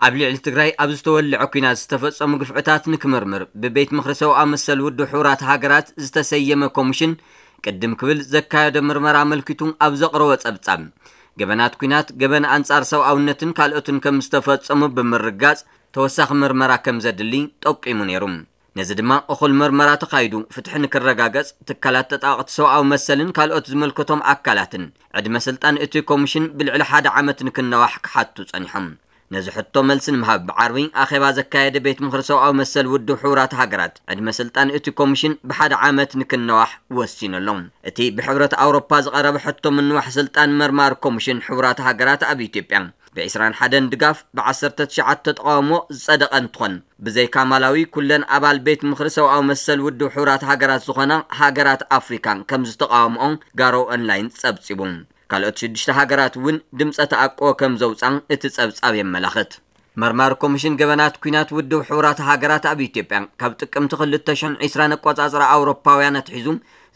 ኣብ ልዕሊ ትግራይ ኣብ ዝተወልዐ ኲናት ዝተፈጸሙ ግፍዕታት ንክምርምር ብቤት ምኽሪ ሰብኣዊ መሰል ውድብ ሕቡራት ሃገራት ዝተሰየመ ኮሚሽን ቅድም ክብል ዘካየዶ ምርመራ ኣመልኪቱ ኣብ ዘቕረቦ ጸብጻብ፣ ገበናት ኲናት፣ ገበን ኣንጻር ሰብኣውነትን ካልኦትን ከም ዝተፈጸሙ ብምርጋጽ ተወሳኺ ምርመራ ከም ዘድሊ ጠቂሙ ነይሩ። ነዚ ድማ እኹል ምርመራ ተኻይዱ ፍትሒ ንክረጋገጽ ትካላት ተጣበቕቲ ሰብኣዊ መሰልን ካልኦት ዝምልከቶም ኣካላትን ዕድመ ስልጣን እቲ ኮሚሽን ብልዕሊ ሓደ ዓመት ንክነዋሕ ክሓቱ ጸኒሖም። ነዚ ሕቶ መልሲ ንምሃብ ብዓርቢ ኣኼባ ዘካየደ ቤት ምኽሪ ሰብኣዊ መሰል ውድብ ሕቡራት ሃገራት ዕድመ ስልጣን እቲ ኮሚሽን ብሓደ ዓመት ንክነዋሕ ወሲኑ ኣሎ። እቲ ብሕብረት ኣውሮፓ ዝቐረበ ሕቶ ምንዋሕ ስልጣን መርማሪ ኮሚሽን ሕቡራት ሃገራት ኣብ ኢትዮጵያ ብ ዕስራን ሓደን ድጋፍ ብ ዓሰርተ ትሽዓተ ተቓውሞ ዝጸደቐ እንትኾን፣ ብዘይካ ማላዊ ኩለን ኣባል ቤት ምኽሪ ሰብኣዊ መሰል ውድብ ሕቡራት ሃገራት ዝኾና ሃገራት ኣፍሪካ ከም ዝተቓወምኦ ጋሮ ኦንላይን ጸብጺቡ። ካልኦት ሽዱሽተ ሃገራት እውን ድምፀ ተኣቅቦ ከም ዘውፃ እቲ ጸብጻብ የመላኽት። መርማሪ ኮሚሽን ገበናት ኲናት ውድብ ሕቡራት ሃገራት ኣብ ኢትዮጵያ ካብ ጥቅምቲ ክልተ ሽሕን ዕስራን ኣቆጻጽራ ኣውሮፓውያን ኣትሒዙ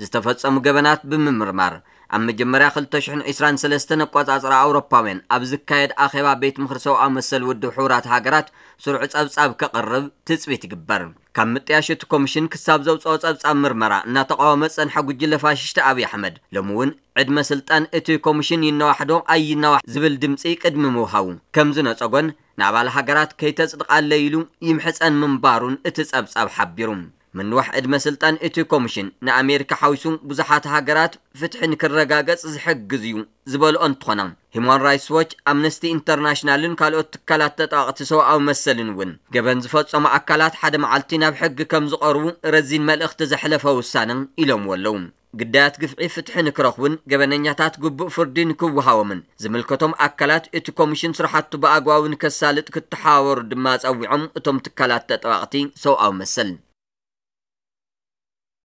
ዝተፈጸሙ ገበናት ብምምርማር፣ ኣብ መጀመርያ ክልተ ሽሕን ዕስራን ሰለስተን ኣቆጻጽራ ኣውሮፓውያን ኣብ ዝካየድ ኣኼባ ቤት ምኽሪ ሰብኣዊ መሰል ውድብ ሕቡራት ሃገራት ስሩዕ ጸብጻብ ከቕርብ ትጽቢት ይግበር። ካብ ምጥያሽ እቲ ኮሚሽን ክሳብ ዘውፅኦ ጸብጻብ ምርመራ እናተቃወመ ዝጸንሐ ጉጅለ ፋሽስት ኣብይ ኣሕመድ፣ ሎሚ እውን ዕድመ ስልጣን እቲ ኮሚሽን ይነዋሕዶ ኣይነዋሕ ዝብል ድምፂ ቅድሚ ምውሃቡ፣ ከም ዝነጸጎን ንኣባል ሃገራት ከይተጽድቓለይ ኢሉ ይምሕጸን ምንባሩን እቲ ጸብጻብ ሓቢሩ። ምንዋሕ ዕድመ ስልጣን እቲ ኮሚሽን ንኣሜሪካ ሓዊሱ ብዙሓት ሃገራት ፍትሒ ንክረጋገጽ ዝሕግዝ እዩ ዝበልኦ እንትኾና፣ ሂማን ራይትስ ዎች፣ ኣምነስቲ ኢንተርናሽናልን ካልኦት ትካላት ተጣበቕቲ ሰብኣዊ መሰልን እውን ገበን ዝፈጸሙ ኣካላት ሓደ መዓልቲ ናብ ሕጊ ከም ዝቐርቡ ረዚን መልእኽቲ ዘሕለፈ ውሳነ ኢሎምዎ ኣለዉ። ግዳያት ግፍዒ ፍትሒ ንክረኽቡን ገበነኛታት ግቡእ ፍርዲ ንክወሃቦምን ዝምልከቶም ኣካላት እቲ ኮሚሽን ስራሕቱ ብኣግባቡ ንከሳልጥ ክተሓባበሩ ድማ ጸዊዖም እቶም ትካላት ተጣበቕቲ ሰብኣዊ መሰል።